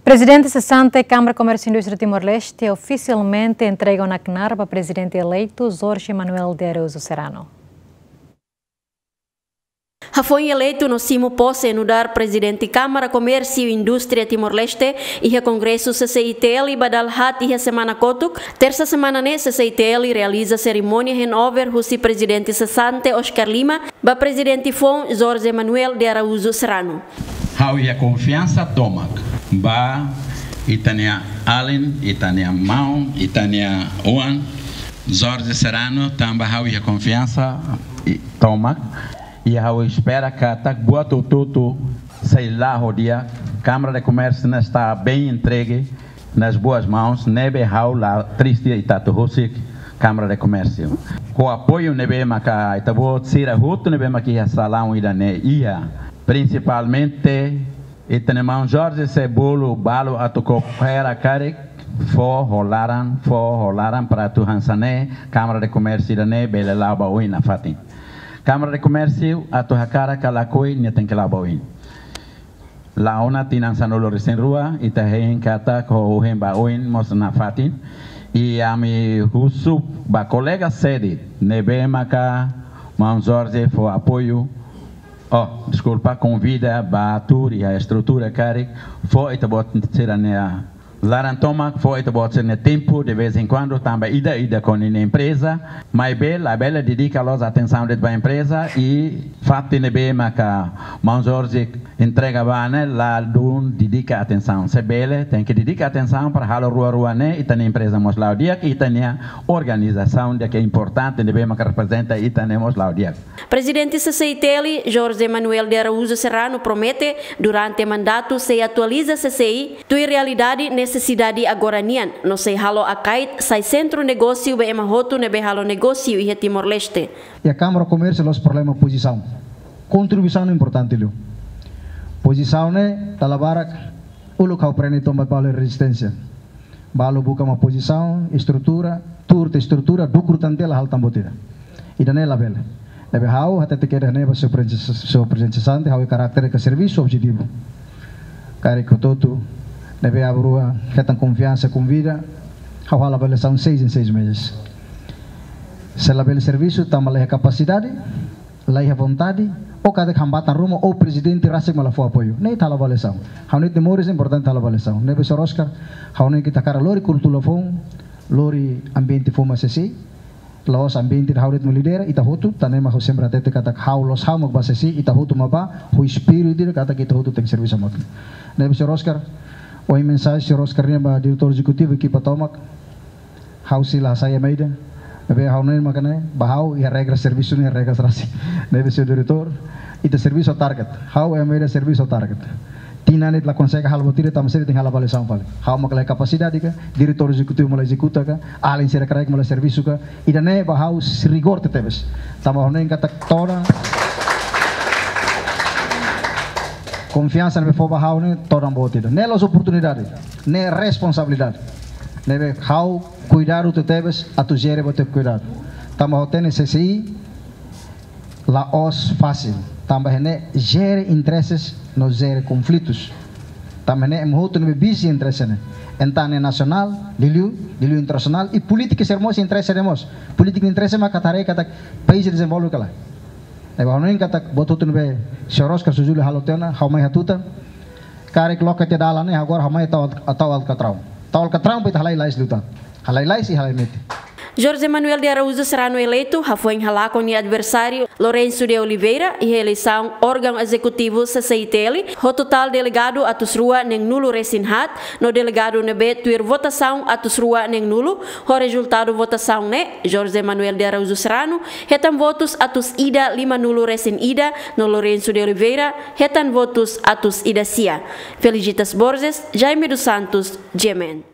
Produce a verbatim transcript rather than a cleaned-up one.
Prezidente sesante Kámara Komérsiu Indústria Timor-Leste ofisialmente entrega ona knaar ba Prezidente eleitu Jorge Manuel de Araújo Serrano. Hafoin eleitu no simu pose nu'udar Prezidente Kámara Komérsiu Indústria Timor-Leste iha Kongresu C C I T L ba dala haat iha semana kotuk, tersa semana ne'e C C I T L realiza serimónia handover husi Prezidente sesante Oscar Lima ba Prezidente foun Jorge Manuel de Araújo Serrano. Ha'u iha konfiansa tomak ba ita-nia alin, ita-nia maun, ita-nia oan, Jorge Serrano, tanba ha'u iha konfiansa i-, tomak. I ha'u espera katak buat hotu-hotu sei la'o di'ak, Câmara de Comércio ne'e está bem entregue nas boas mãos, ne'ebé ha'u la triste ita atu husik Câmara de Comércio. Ho apoiu ne'ebé maka ita-boot sira hotu ne'ebé maka iha salaun ida-ne'e iha. Prinsipalmente, ita-nia maun Jorge sei bolu balu atu koopera karik, fó ho laran, fó ho laran para atu hanesan ne'e, Câmara de Comércio ida-ne'e bele la'o ba oin nafatin. Câmara de Comércio atu hakarak ka lakohi nia tenke la'o ba oin. La'o ona tinan sanulu-resin-rua, ita hein katak ho ohin ba oin mós nafatin. I ami husu ba kolega sede, ne'ebé maka maun Jorge fó apoiu, oh, deskulpa, konvida ba tuur iha estrutura karik, fó ita-boot sira-nia laran tomak, fó ita-boot sira-nia tempu de vez em quando, tanba ida-idak ho ninia empreza, maibé labele dedika loos atensaun de'it ba empreza, i fatin ne'ebé maka maun Jorge entrega ba ne'e, ladún dedika atensaun. Se bele, tenke dedika atensaun para halo rua-rua ne'e, ita-nia empreza mós la'o di'ak, ita-nia organizasaun di'ak ke importante ne'ebé maka reprezenta ita-nia mós la'o di'ak. Prezidente C C I T L, Jorge Manuel de Araújo Serrano, promete durante mandatu sei atualiza C C I tuir realidade nesesidade agora nian, no sei halo Akait sai sentru negósiu ba ema hotu ne'ebé halo negósiu iha Timor-Leste. Iha Kámara Komérsiu la'ós problema pozisaun. Kontribuisaun ne'e importante liu. Pozisaun ne'e dala barak uluk ha'u aprende tomak ba balu rezisténsia. Balu buka mak pozisaun, estrutura, tuur tiha estrutura, dukur tan tiha la halo tan buat ida. Ida-ne'e labele. Ne'ebé ha'u hatete kedas ne'e ba señór prezidente, señór prezidente sesante, ha'u iha karáter ka servisu objetivu. Karik hotu-hotu ne'ebé aban-rua hetan konfiansa, konvida, ha'u halo avaliasaun seis em seis meses. Se labele servisu tanba laiha kapasidade, laiha vontade, ou katak hambatan ruma, ou prezidente rasik mak la fó apoiu. Ne'e ita halo avaliasaun. Ha'u hanoin ita moris importante halo avaliasaun. Ne'ebé señór Oscar, ha'u hanoin ita hakarak lori kultura foun, lori ambiente foun ba C C I, la'ós ambiente ida ha'u de'it mak lidera, ita hotu, tan ne'e mak ha'u sempre hatete katak ha'u la'ós ha'u mak ba C C I, ita hotu mak ba, ho espíritu ida katak ita hotu tenke servisu hamutuk. Ne'ebé señór Oscar, ohin mensajen señór Oscar nian ba diretór ezekutivu, ekipa tomak, ha'u sei la hasai ema ida. Ne'ebé ha'u hanoin mak ne'e, ba ha'u iha regra servisu ne'e regra rasik. Ne'ebé señór diretór, ita servisu ho target. Ha'u ema ida servisu ho target. Tinan ne'e la konsege halo buat ida, tanba sira tenke halo avaliasaun fali. Ha'u mak la iha kapasidade ka, diretór ezekutivu mak la ezekuta ka, alin sira kraik mak la servisu ka. Ida-ne'e ba ha'u rigór tebetebes. Tanba ha'u hanoin katak todan konfiansa ne'ebé fó ba ha'u ne'e todan boot ida. Ne'e la'ós oportunidade, ne'e responsabilidade. Ne'ebé ha'u kuidadu tebetebes atu jere buat tebes kuidadu. Tanba ha'u hatene C C I la'ós fasil. Tanba iha ne'e jere intereses no jere konflitus. Tanba iha ne'e ema hotu ne'ebé bisi interese ne'e. Entaun ne'e nasionál, liuliu, liuliu internasionál, i polítika sira mós interese ne'e mós. Polítika interese mak atu haree katak país dezenvolve ka lae. Ne'ebé ha'u hanoin katak buat hotu ne'ebé señór Oscar Sujuli halo tiha ona, ha'u mai hatutan. Karik loke tiha dalan ne'e, agora ha'u mai tau, tau alkatraun. Tau alkatraun para ita halai lais liután. Halai lais i halai mete. Jorge Manuel de Araújo Serrano eleitu, hafoin halakon nia adversáriu Lourenço de Oliveira, iha eleisaun órgaun ezekutivu C C I T L, ho totál delegadu atus rua neen-nulu resin haat, no delegadu ne'ebé tuir votasaun atus rua neen-nulu, ho rezultadu votasaun ne'e, Jorge Manuel de Araújo Serrano, hetan votus atus ida lima-nulu resin ida, no Lourenço de Oliveira, hetan votus atus ida sia. Felicitas Borges, Jaime dos Santos, G M N.